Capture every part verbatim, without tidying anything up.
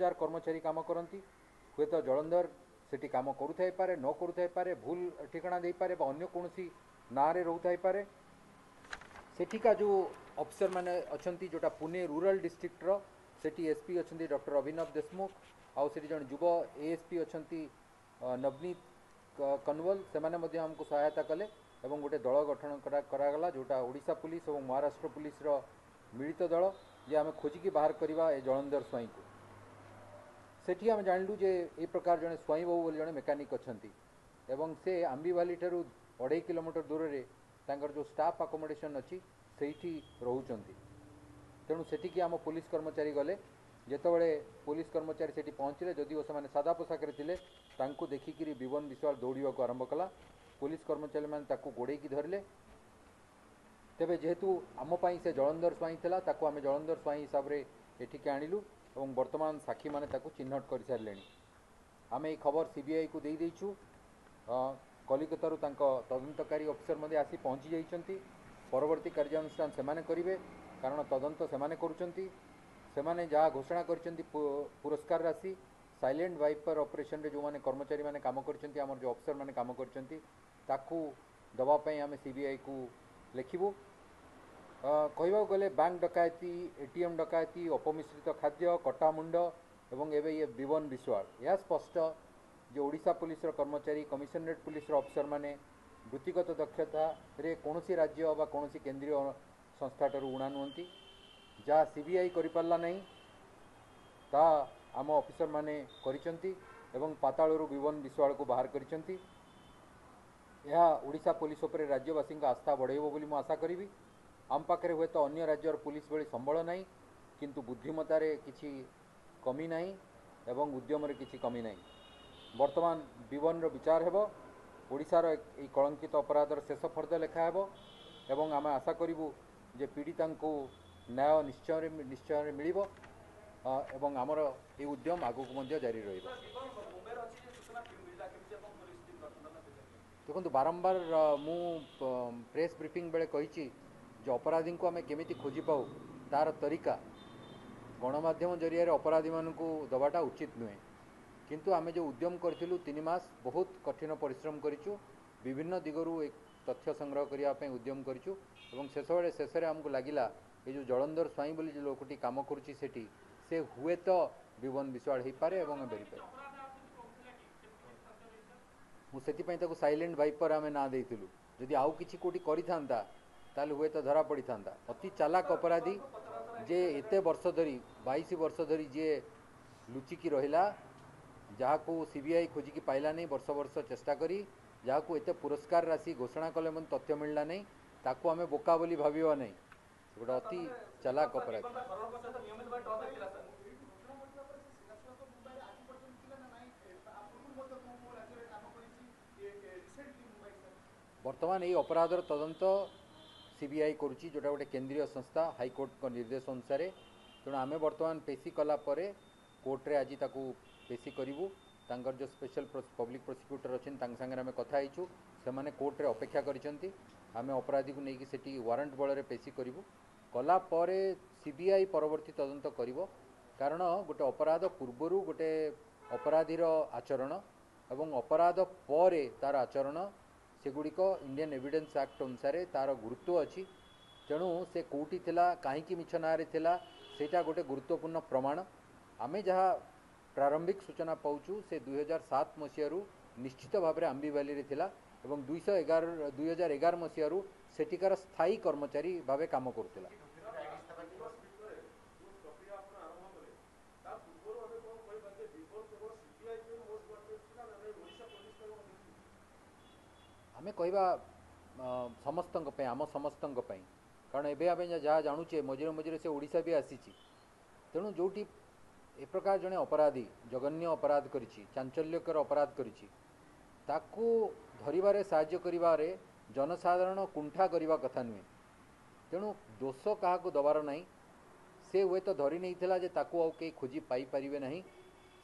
ହଜାର କର୍ମଚାରୀ କାମ କରନ୍ତି। ହୁଏତ ଜଳନ୍ଧର ସେଠି କାମ କରୁଥାଇପାରେ, ନ କରୁଥାଇପାରେ, ଭୁଲ ଠିକଣା ଦେଇପାରେ ବା ଅନ୍ୟ କୌଣସି ନାଁରେ ରହୁଥାଇପାରେ। ସେଠିକା ଯେଉଁ ଅଫିସରମାନେ ଅଛନ୍ତି, ଯେଉଁଟା ପୁନେ ରୁରାଲ ଡିଷ୍ଟ୍ରିକ୍ଟର, ସେଠି ଏସ୍ ପି ଅଛନ୍ତି ଡକ୍ଟର ଅଭିନବ ଦେଶମୁଖ, ଆଉ ସେଠି ଜଣେ ଯୁବ ଏଏସ୍ ପି ଅଛନ୍ତି ନବନୀତ କନୱଲ, ସେମାନେ ମଧ୍ୟ ଆମକୁ ସହାୟତା କଲେ ଏବଂ ଗୋଟେ ଦଳ ଗଠନ କରାଗଲା, ଯେଉଁଟା ଓଡ଼ିଶା ପୁଲିସ ଏବଂ ମହାରାଷ୍ଟ୍ର ପୁଲିସର ମିଳିତ ଦଳ, ଯେ ଆମେ ଖୋଜିକି ବାହାର କରିବା ଏ ଜଳନ୍ଧର ସ୍ୱାଇଁକୁ। ସେଠି ଆମେ ଜାଣିଲୁ ଯେ ଏ ପ୍ରକାର ଜଣେ ସ୍ୱାଇଁ ବାବୁ ବୋଲି ଜଣେ ମେକାନିକ୍ ଅଛନ୍ତି ଏବଂ ସେ ଆମ୍ବିଭାଲି ଠାରୁ ଅଢ଼େଇ କିଲୋମିଟର ଦୂରରେ ତାଙ୍କର ଯେଉଁ ଷ୍ଟାଫ୍ ଆକୋମୋଡେସନ୍ ଅଛି ସେଇଠି ରହୁଛନ୍ତି। ତେଣୁ ସେଠିକି ଆମ ପୋଲିସ କର୍ମଚାରୀ ଗଲେ। ଯେତେବେଳେ ପୋଲିସ କର୍ମଚାରୀ ସେଠି ପହଞ୍ଚିଲେ, ଯଦିଓ ସେମାନେ ସାଦା ପୋଷାକରେ ଥିଲେ, ତାଙ୍କୁ ଦେଖିକିରି ବିବନ ବିଶ୍ୱାଳ ଦୌଡ଼ିବାକୁ ଆରମ୍ଭ କଲା। ପୋଲିସ କର୍ମଚାରୀମାନେ ତାକୁ ଗୋଡ଼େଇକି ଧରିଲେ। ତେବେ ଯେହେତୁ ଆମ ପାଇଁ ସେ ଜଳନ୍ଧର ସ୍ୱାଇଁ ଥିଲା, ତାକୁ ଆମେ ଜଳନ୍ଧର ସ୍ୱାଇଁ ହିସାବରେ ଏଠିକି ଆଣିଲୁ ଏବଂ ବର୍ତ୍ତମାନ ସାକ୍ଷୀମାନେ ତାକୁ ଚିହ୍ନଟ କରିସାରିଲେଣି। ଆମେ ଏଇ ଖବର ସିବିଆଇକୁ ଦେଇଦେଇଛୁ। କଲିକତାରୁ ତାଙ୍କ ତଦନ୍ତକାରୀ ଅଫିସର ମଧ୍ୟ ଆସି ପହଞ୍ଚି ଯାଇଛନ୍ତି। ପରବର୍ତ୍ତୀ କାର୍ଯ୍ୟାନୁଷ୍ଠାନ ସେମାନେ କରିବେ, କାରଣ ତଦନ୍ତ ସେମାନେ କରୁଛନ୍ତି। ସେମାନେ ଯାହା ଘୋଷଣା କରିଛନ୍ତି ପୁରସ୍କାର ରାଶି, ସାଇଲେଣ୍ଟ ଭାଇପର ଅପରେସନରେ ଯେଉଁମାନେ କର୍ମଚାରୀମାନେ କାମ କରିଛନ୍ତି, ଆମର ଯେଉଁ ଅଫିସରମାନେ କାମ କରିଛନ୍ତି, ତାକୁ ଦେବା ପାଇଁ ଆମେ ସିବିଆଇକୁ ଲେଖିବୁ। କହିବାକୁ ଗଲେ ବ୍ୟାଙ୍କ ଡକାୟତି, ଏ ଟି ଏମ୍ ଡକାୟତି, ଅପମିଶ୍ରିତ ଖାଦ୍ୟ, କଟାମୁଣ୍ଡ ଏବଂ ଏବେ ଇଏ ବିବନ ବିଶ୍ୱାଳ, ଏହା ସ୍ପଷ୍ଟ ଯେ ଓଡ଼ିଶା ପୁଲିସର କର୍ମଚାରୀ, କମିଶନରେଟ୍ ପୁଲିସର ଅଫିସରମାନେ ବୃତ୍ତିଗତ ଦକ୍ଷତାରେ କୌଣସି ରାଜ୍ୟ ବା କୌଣସି କେନ୍ଦ୍ରୀୟ ସଂସ୍ଥାଠାରୁ ଉଣା ନୁହନ୍ତି। ଯାହା ସି ବି I କରିପାରିଲା ନାହିଁ, ତାହା ଆମ ଅଫିସରମାନେ କରିଛନ୍ତି ଏବଂ ପାତାଳରୁ ବିବନ ବିଶ୍ୱାଳକୁ ବାହାର କରିଛନ୍ତି। ଏହା ଓଡ଼ିଶା ପୋଲିସ ଉପରେ ରାଜ୍ୟବାସୀଙ୍କ ଆସ୍ଥା ବଢ଼ାଇବ ବୋଲି ମୁଁ ଆଶା କରିବି। ଆମ ପାଖରେ ହୁଏତ ଅନ୍ୟ ରାଜ୍ୟର ପୋଲିସ ଭଳି ସମ୍ବଳ ନାହିଁ, କିନ୍ତୁ ବୁଦ୍ଧିମତାରେ କିଛି କମି ନାହିଁ ଏବଂ ଉଦ୍ୟମରେ କିଛି କମି ନାହିଁ। ବର୍ତ୍ତମାନ ବିବନର ବିଚାର ହେବ, ଓଡ଼ିଶାର ଏଇ କଳଙ୍କିତ ଅପରାଧର ଶେଷ ଫର୍ଦ୍ଦ ଲେଖା ହେବ ଏବଂ ଆମେ ଆଶା କରିବୁ ଯେ ପୀଡ଼ିତାଙ୍କୁ ନ୍ୟାୟ ନିଶ୍ଚୟରେ ନିଶ୍ଚୟରେ ମିଳିବ ଏବଂ ଆମର ଏହି ଉଦ୍ୟମ ଆଗକୁ ମଧ୍ୟ ଜାରି ରହିବ। ଦେଖନ୍ତୁ, ବାରମ୍ବାର ମୁଁ ପ୍ରେସ୍ ବ୍ରିଫିଂ ବେଳେ କହିଛି ଯେ ଅପରାଧୀଙ୍କୁ ଆମେ କେମିତି ଖୋଜି ପାଉ ତାର ତରିକା ଗଣମାଧ୍ୟମ ଜରିଆରେ ଅପରାଧୀମାନଙ୍କୁ ଦେବାଟା ଉଚିତ ନୁହେଁ। କିନ୍ତୁ ଆମେ ଯେଉଁ ଉଦ୍ୟମ କରିଥିଲୁ ତିନି ମାସ ବହୁତ କଠିନ ପରିଶ୍ରମ କରିଛୁ, ବିଭିନ୍ନ ଦିଗରୁ ଏ ତଥ୍ୟ ସଂଗ୍ରହ କରିବା ପାଇଁ ଉଦ୍ୟମ କରିଛୁ ଏବଂ ଶେଷବେଳେ ଶେଷରେ ଆମକୁ ଲାଗିଲା ଏ ଯେଉଁ ଜଳନ୍ଧର ସ୍ୱାଇଁ ବୋଲି ଯେଉଁ ଲୋକଟି କାମ କରୁଛି ସେଠି, ସେ ହୁଏତ ବିବନ ବିଶ୍ୱାଳ ହେଇପାରେ ଏବଂ ବେରିପାରେ। ମୁଁ ସେଥିପାଇଁ ତାକୁ ସାଇଲେଣ୍ଟ ଭାଇପର ଆମେ ନାଁ ଦେଇଥିଲୁ। ଯଦି ଆଉ କିଛି କେଉଁଠି କରିଥାନ୍ତା ତାହେଲେ ହୁଏତ ଧରା ପଡ଼ିଥାନ୍ତା। ଅତି ଚାଲାକ ଅପରାଧୀ ଯେ ଏତେ ବର୍ଷ ଧରି, ବାଇଶ ବର୍ଷ ଧରି ଯିଏ ଲୁଚିକି ରହିଲା, ଯାହାକୁ ସି ବି I ଖୋଜିକି ପାଇଲା ନାହିଁ ବର୍ଷ ବର୍ଷ ଚେଷ୍ଟା କରି, ଯାହାକୁ ଏତେ ପୁରସ୍କାର ରାଶି ଘୋଷଣା କଲେ ମଧ୍ୟ ତଥ୍ୟ ମିଳିଲା ନାହିଁ, ତାକୁ ଆମେ ବୋକା ବୋଲି ଭାବିବା ନାହିଁ। ସେ ଗୋଟେ ଅତି ଚାଲାକ ଅପରାଧୀ। ବର୍ତ୍ତମାନ ଏଇ ଅପରାଧର ତଦନ୍ତ ସି ବି I କରୁଛି, ଯେଉଁଟା ଗୋଟେ କେନ୍ଦ୍ରୀୟ ସଂସ୍ଥା ହାଇକୋର୍ଟଙ୍କ ନିର୍ଦ୍ଦେଶ ଅନୁସାରେ। ତେଣୁ ଆମେ ବର୍ତ୍ତମାନ ପେଶି କଲା ପରେ କୋର୍ଟରେ ଆଜି ତାକୁ ପେଶି କରିବୁ। ତାଙ୍କର ଯେଉଁ ସ୍ପେଶାଲ ପବ୍ଲିକ୍ ପ୍ରସିକ୍ୟୁଟର ଅଛନ୍ତି ତାଙ୍କ ସାଙ୍ଗରେ ଆମେ କଥା ହେଇଛୁ, ସେମାନେ କୋର୍ଟରେ ଅପେକ୍ଷା କରିଛନ୍ତି। ଆମେ ଅପରାଧୀକୁ ନେଇକି ସେଠି ୱାରେଣ୍ଟ ବଳରେ ପେଶି କରିବୁ। କଲା ପରେ ସି ବି I ପରବର୍ତ୍ତୀ ତଦନ୍ତ କରିବ, କାରଣ ଗୋଟେ ଅପରାଧ ପୂର୍ବରୁ ଗୋଟେ ଅପରାଧୀର ଆଚରଣ ଏବଂ ଅପରାଧ ପରେ ତାର ଆଚରଣ, ସେଗୁଡ଼ିକ ଇଣ୍ଡିଆନ୍ ଏଭିଡେନ୍ସ ଆକ୍ଟ ଅନୁସାରେ ତାର ଗୁରୁତ୍ୱ ଅଛି। ତେଣୁ ସେ କେଉଁଠି ଥିଲା, କାହିଁକି ମିଛ ନାଁରେ ଥିଲା, ସେଇଟା ଗୋଟେ ଗୁରୁତ୍ୱପୂର୍ଣ୍ଣ ପ୍ରମାଣ। ଆମେ ଯାହା ପ୍ରାରମ୍ଭିକ ସୂଚନା ପାଉଛୁ, ସେ ଦୁଇହଜାର ସାତ ମସିହାରୁ ନିଶ୍ଚିତ ଭାବରେ ଆମ୍ବିଭାଲିରେ ଥିଲା ଏବଂ ଦୁଇଶହ ଏଗାର ଦୁଇ ହଜାର ଏଗାର ମସିହାରୁ ସେଠିକାର ସ୍ଥାୟୀ କର୍ମଚାରୀ ଭାବେ କାମ କରୁଥିଲା। ଆମେ କହିବା ସମସ୍ତଙ୍କ ପାଇଁ, ଆମ ସମସ୍ତଙ୍କ ପାଇଁ, କାରଣ ଏବେ ଆମେ ଯାହା ଜାଣୁଛେ ମଝିରେ ମଝିରେ ସେ ଓଡ଼ିଶା ବି ଆସିଛି। ତେଣୁ ଯେଉଁଠି ଏ ପ୍ରକାର ଜଣେ ଅପରାଧୀ ଜଘନ୍ୟ ଅପରାଧ କରିଛି, ଚାଞ୍ଚଲ୍ୟକର ଅପରାଧ କରିଛି, ତାକୁ ଧରିବାରେ ସାହାଯ୍ୟ କରିବାରେ ଜନସାଧାରଣ କୁଣ୍ଠା କରିବା କଥା ନୁହେଁ। ତେଣୁ ଦୋଷ କାହାକୁ ଦେବାର ନାହିଁ। ସେ ହୁଏତ ଧରି ନେଇଥିଲା ଯେ ତାକୁ ଆଉ କେହି ଖୋଜି ପାଇପାରିବେ ନାହିଁ।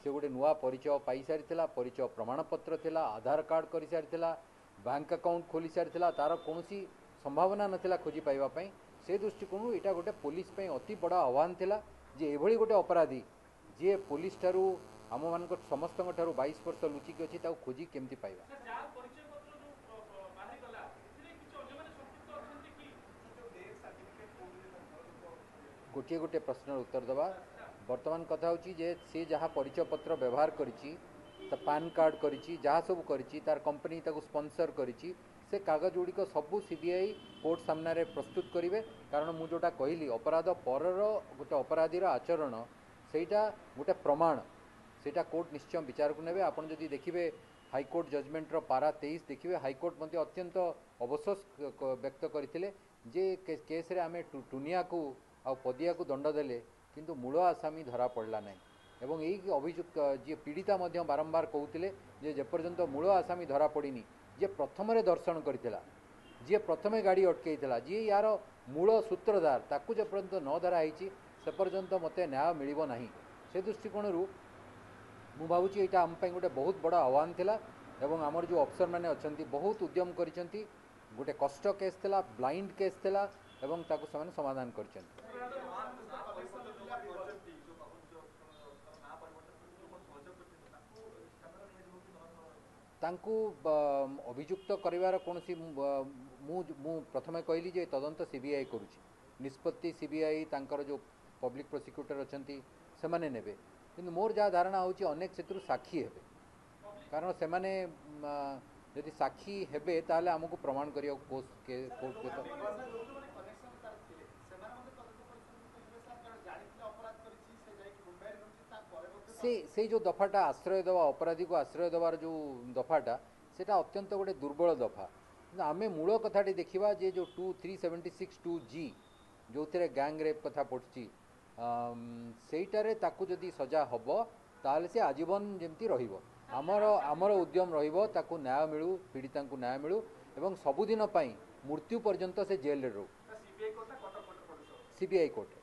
ସେ ଗୋଟେ ନୂଆ ପରିଚୟ ପାଇସାରିଥିଲା, ପରିଚୟ ପ୍ରମାଣପତ୍ର ଥିଲା, ଆଧାର କାର୍ଡ଼ କରିସାରିଥିଲା, ବ୍ୟାଙ୍କ ଆକାଉଣ୍ଟ ଖୋଲି ସାରିଥିଲା, ତାର କୌଣସି ସମ୍ଭାବନା ନଥିଲା ଖୋଜି ପାଇବା ପାଇଁ। ସେ ଦୃଷ୍ଟିକୋଣରୁ ଏଇଟା ଗୋଟେ ପୋଲିସ ପାଇଁ ଅତି ବଡ଼ ଆହ୍ୱାନ ଥିଲା ଯେ ଏଭଳି ଗୋଟେ ଅପରାଧୀ ଯିଏ ପୋଲିସ ଠାରୁ ଆମମାନଙ୍କ ସମସ୍ତଙ୍କ ଠାରୁ ବାଇଶ ବର୍ଷ ଲୁଚିକି ଅଛି ତାକୁ ଖୋଜି କେମିତି ପାଇବା? ଗୋଟିଏ ଗୋଟିଏ ପ୍ରଶ୍ନର ଉତ୍ତର ଦେବା। ବର୍ତ୍ତମାନ କଥା ହେଉଛି ଯେ ସେ ଯାହା ପରିଚୟ ପତ୍ର ବ୍ୟବହାର କରିଛି, ତା ପାନ୍ କାର୍ଡ଼ କରିଛି, ଯାହା ସବୁ କରିଛି, ତାର କମ୍ପାନୀ ତାକୁ ସ୍ପନ୍ସର କରିଛି, ସେ କାଗଜ ଗୁଡ଼ିକ ସବୁ ସି ବି I court ସାମ୍ନାରେ ପ୍ରସ୍ତୁତ କରିବେ। କାରଣ ମୁଁ ଯେଉଁଟା କହିଲି, ଅପରାଧ ପରର ଗୋଟେ ଅପରାଧୀର ଆଚରଣ ସେଇଟା ଗୋଟେ ପ୍ରମାଣ, ସେଇଟା କୋର୍ଟ ନିଶ୍ଚୟ ବିଚାରକୁ ନେବେ। ଆପଣ ଯଦି ଦେଖିବେ ହାଇକୋର୍ଟ ଜଜମେଣ୍ଟର ପାରା ତେଇଶ ଦେଖିବେ, ହାଇକୋର୍ଟ ମଧ୍ୟ ଅତ୍ୟନ୍ତ ଅବସୋସ ବ୍ୟକ୍ତ କରିଥିଲେ ଯେ କେସ୍ରେ ଆମେ ଟୁନିଆକୁ ଆଉ ପଦିଆକୁ ଦଣ୍ଡ ଦେଲେ, କିନ୍ତୁ ମୂଳ ଆସାମୀ ଧରା ପଡ଼ିଲା ନାହିଁ। ଏବଂ ଏଇ ଅଭିଯୁକ୍ତ ଯିଏ ପୀଡ଼ିତା ମଧ୍ୟ ବାରମ୍ବାର କହୁଥିଲେ ଯେ ଯେପର୍ଯ୍ୟନ୍ତ ମୂଳ ଆସାମୀ ଧରା ପଡ଼ିନି, ଯିଏ ପ୍ରଥମରେ ଦର୍ଶନ କରିଥିଲା, ଯିଏ ପ୍ରଥମେ ଗାଡ଼ି ଅଟକେଇଥିଲା, ଯିଏ ୟାର ମୂଳ ସୂତ୍ରଧାର, ତାକୁ ଯେପର୍ଯ୍ୟନ୍ତ ନ ଧରା ହେଇଛି ସେ ପର୍ଯ୍ୟନ୍ତ ମୋତେ ନ୍ୟାୟ ମିଳିବ ନାହିଁ। ସେ ଦୃଷ୍ଟିକୋଣରୁ ମୁଁ ଭାବୁଛି ଏଇଟା ଆମ ପାଇଁ ଗୋଟେ ବହୁତ ବଡ଼ ଆହ୍ୱାନ ଥିଲା ଏବଂ ଆମର ଯେଉଁ ଅଫିସରମାନେ ଅଛନ୍ତି ବହୁତ ଉଦ୍ୟମ କରିଛନ୍ତି। ଗୋଟେ କଷ୍ଟ କେସ୍ ଥିଲା, ବ୍ଲାଇଣ୍ଡ କେସ୍ ଥିଲା ଏବଂ ତାକୁ ସେମାନେ ସମାଧାନ କରିଛନ୍ତି। ତାଙ୍କୁ ଅଭିଯୁକ୍ତ କରିବାର କୌଣସି, ମୁଁ ମୁଁ ପ୍ରଥମେ କହିଲି ଯେ ତଦନ୍ତ ସି ବି I କରୁଛି, ନିଷ୍ପତ୍ତି ସି ବି I ତାଙ୍କର ଯେଉଁ ପବ୍ଲିକ୍ ପ୍ରୋସିକ୍ୟୁଟର ଅଛନ୍ତି ସେମାନେ ନେବେ। କିନ୍ତୁ ମୋର ଯାହା ଧାରଣା ହେଉଛି ଅନେକ ସେଥିରୁ ସାକ୍ଷୀ ହେବେ, କାରଣ ସେମାନେ ଯଦି ସାକ୍ଷୀ ହେବେ ତାହେଲେ ଆମକୁ ପ୍ରମାଣ କରିବାକୁ କୋର୍ଟ। ସେ ସେଇ ଯେଉଁ ଦଫାଟା ଆଶ୍ରୟ ଦେବା, ଅପରାଧୀକୁ ଆଶ୍ରୟ ଦେବାର ଯେଉଁ ଦଫାଟା, ସେଇଟା ଅତ୍ୟନ୍ତ ଗୋଟେ ଦୁର୍ବଳ ଦଫା। କିନ୍ତୁ ଆମେ ମୂଳ କଥାଟି ଦେଖିବା ଯେ ଯେଉଁ two three seventy six two G ଯେଉଁଥିରେ ଗ୍ୟାଙ୍ଗ ରେପ୍ କଥା ପଡ଼ୁଛି, ସେଇଟାରେ ତାକୁ ଯଦି ସଜା ହେବ ତାହେଲେ ସେ ଆଜୀବନ ଯେମିତି ରହିବ। ଆମର ଆମର ଉଦ୍ୟମ ରହିବ ତାକୁ ନ୍ୟାୟ ମିଳୁ, ପୀଡ଼ିତାଙ୍କୁ ନ୍ୟାୟ ମିଳୁ ଏବଂ ସବୁଦିନ ପାଇଁ ମୃତ୍ୟୁ ପର୍ଯ୍ୟନ୍ତ ସେ ଜେଲରେ ରହୁ। C B I court.